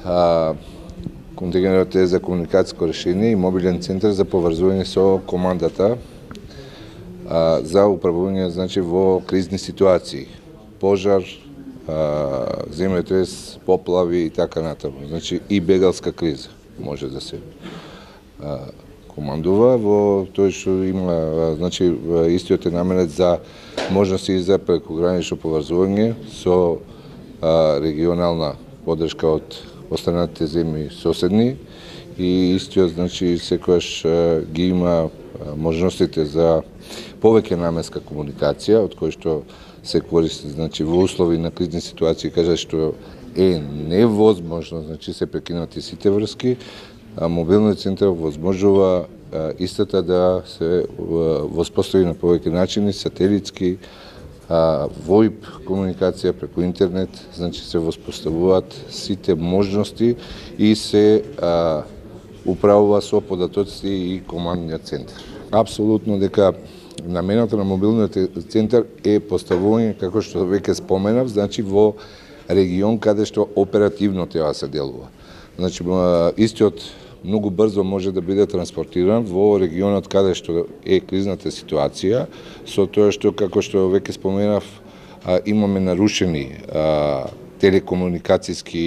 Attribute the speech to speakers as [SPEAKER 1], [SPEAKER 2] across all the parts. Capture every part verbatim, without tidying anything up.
[SPEAKER 1] а, контингентот е за комуникацијско решение и мобилен центар за поврзување со командата а, за управување, значи, во кризни ситуации, пожар, а, земјотрес, поплави и така натаму. Значи и бегалска криза може да се а, командува во тој што има, значи истиот е наменет за можности за прекогранично поврзување со а, регионална подршка од останатите земји соседни и истиот, значи, секојаш ги има можностите за повеќе наменска комуникација, од кој што се користи, значи, во услови на кризни ситуации, кажа што е невозможно, значи се прекинати сите врски, а мобилниот центар возможува а, истата да се воспостави на повеќе начини, сателитски, а, воип комуникација преку интернет, значи се воспоставуваат сите можности и се а, управува со податоци и командниот центар. Апсолутно дека намената на мобилниот центар е поставување, како што веќе споменав, значи во регион каде што оперативно треба се делува. Значи истиот многу брзо може да биде транспортиран во регионот каде што е кризната ситуација, со тоа што, како што веќе споменав, имаме нарушени телекомуникацијски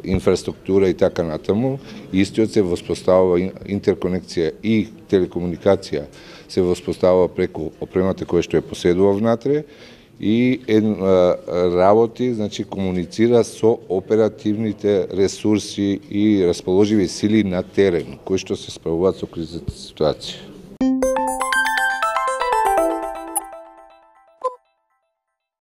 [SPEAKER 1] инфраструктура и така натаму. Истиот се воспоставува интерконекција и телекомуникација се воспоставува преку опремата која што е поседува внатре и работи, значи комуницира со оперативните ресурси и расположиви сили на терен кои што се справуваат со кризната ситуација.